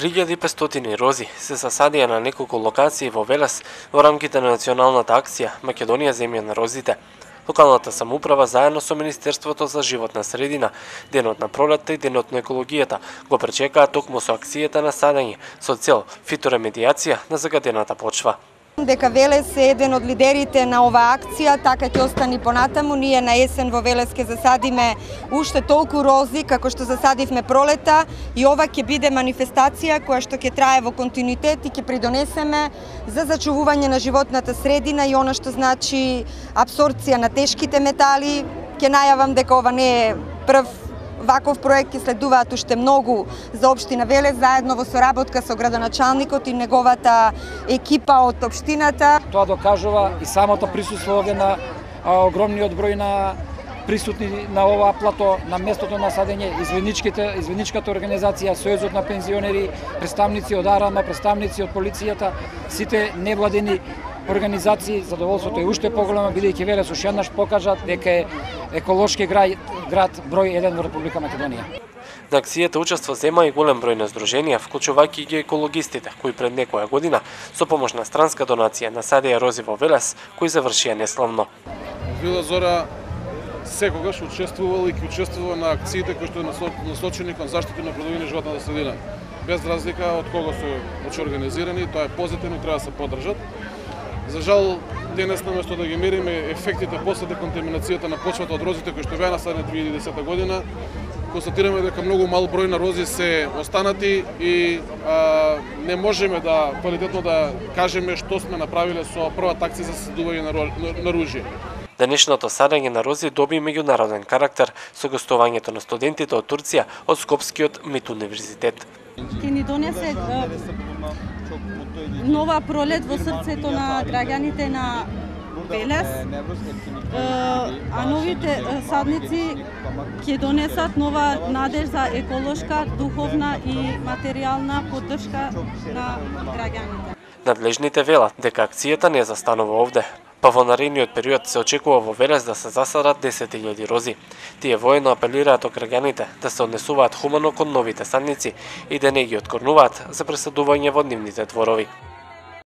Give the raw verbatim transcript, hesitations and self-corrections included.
три илјади и петстотини рози се засадија на неколку локации во Велес во рамките на националната акција Македонија земја на розите. Локалната самоуправа заедно со Министерството за животна средина, Денот на пролетта и Денот на екологијата го пречекаа токму со акцијата на садење со цел фиторемедијација на загадената почва. Дека Велес е еден од лидерите на оваа акција, така ќе остани понатаму. Ние на есен во Велес ќе засадиме уште толку рози како што засадивме пролета и ова ќе биде манифестација која што ќе трае во континуитет и ќе придонесеме за зачувување на животната средина и она што значи апсорбција на тешките метали. Ќе најавам дека ова не е прв ваков проект, ќе следуваат уште многу за општина Велес, заедно во соработка со градоначалникот и неговата екипа од општината. Тоа докажува и самото присуство овде на а, огромниот број на присутни на оваа плато, на местото на садење, изведничките, изведничката организација, Сојузот на пензионери, представници од АРАМА, представници од полицијата, сите невладени организации. Задоволството е уште поголемо, бидејќи Велес уште еднаш покажа дека е еколошки град, град број еден во Република Македонија. На акцијата учества зема и голем број на здруженија, вклучувајќи ги екологистите, кои пред некоја година со помош на странска донација насадија рози во Велес, кои завршија неславно. Вила Зора секогаш учествувал и ќе учествува на акциите кои што насочени кон заштита на природната животната средина. Без разлика од кого се организирани, тоа е позитивно и треба да се поддржат. За жал, денес наместо да ги мериме ефектите после деконтаминацијата на почвата од розите кои што беа насадени две илјади и десета година, констатираме дека многу мал број на рози се останати и а, не можеме да квалитетно да кажеме што сме направиле со првата акција за садување на, на, на ружје. Денешното садење на рози доби меѓународен карактер со гостувањето на студентите од Турција од Скопскиот МИТ универзитет. Ќе ни донесе нова пролет во срцето на граѓаните на Велес, а новите садници ќе донесат нова надеж за еколошка, духовна и материјална поддршка на граѓаните. Надлежните велат дека акцијата не застанува овде, па во наредниот период се очекува во Велес да се засадат десет илјади рози. Тие воено апелираат од граѓаните да се однесуваат хумано кон новите садници и да не ги откорнуваат за пресадување во нивните дворови.